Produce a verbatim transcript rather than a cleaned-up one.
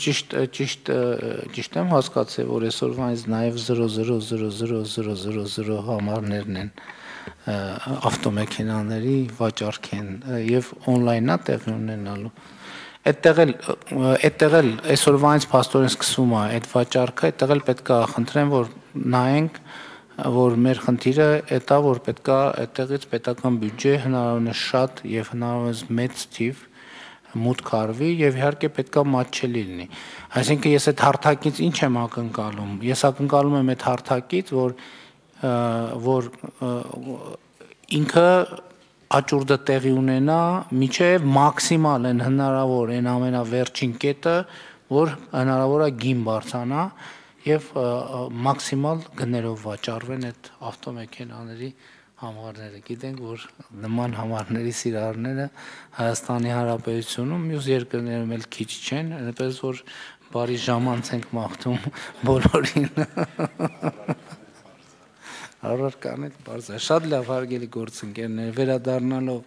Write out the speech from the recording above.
Ճիշտ ճիշտ ճիշտ եմ հասկացել, որ այսօրվանից նաև զրո զրո զրո զրո զրո զրո զրո համարներն են ավտոմեքենաների վաճառք են եւ on-line-ա տեղի ունենալու։ Այդտեղ էլ այդտեղ էլ այսօրվանից փաստորեն սկսվում է այդ վաճառքը, այդտեղ էլ պետք է խնդրեմ, որ նայենք, որ մեր խնդիրը այդ է, որ պետք է այդտեղից պետական բյուջե հնարավորինս շատ եւ հնարավորինս մեծ թիվ մուտք արվի եւ իհարկե պետքա մատչելի լինի։ Այսինքն ես այդ հարթակից ինչ եմ ակնկալում։ Ես ակնկալում եմ այդ հարթակից, որ որ ինքը աճուրդը տեղի ունենա միջև մաքսիմալ են հնարավոր այն ամենավերջին կետը, որ հնարավոր է գին բարձրանա եւ մաքսիմալ գներով վաճառվեն այդ ավտոմեքենաների համարները։ Գիտենք, որ նման համարների սիրահարները Հայաստանի Հանրապետությունում մյուս երկրներում էլ քիչ չեն, այնպես որ բարի ժամանց ենք մաղթում բոլորին։ Առարկան էլ բարձր։ Շատ լավ հարգելի գործընկերներ, վերադառնալով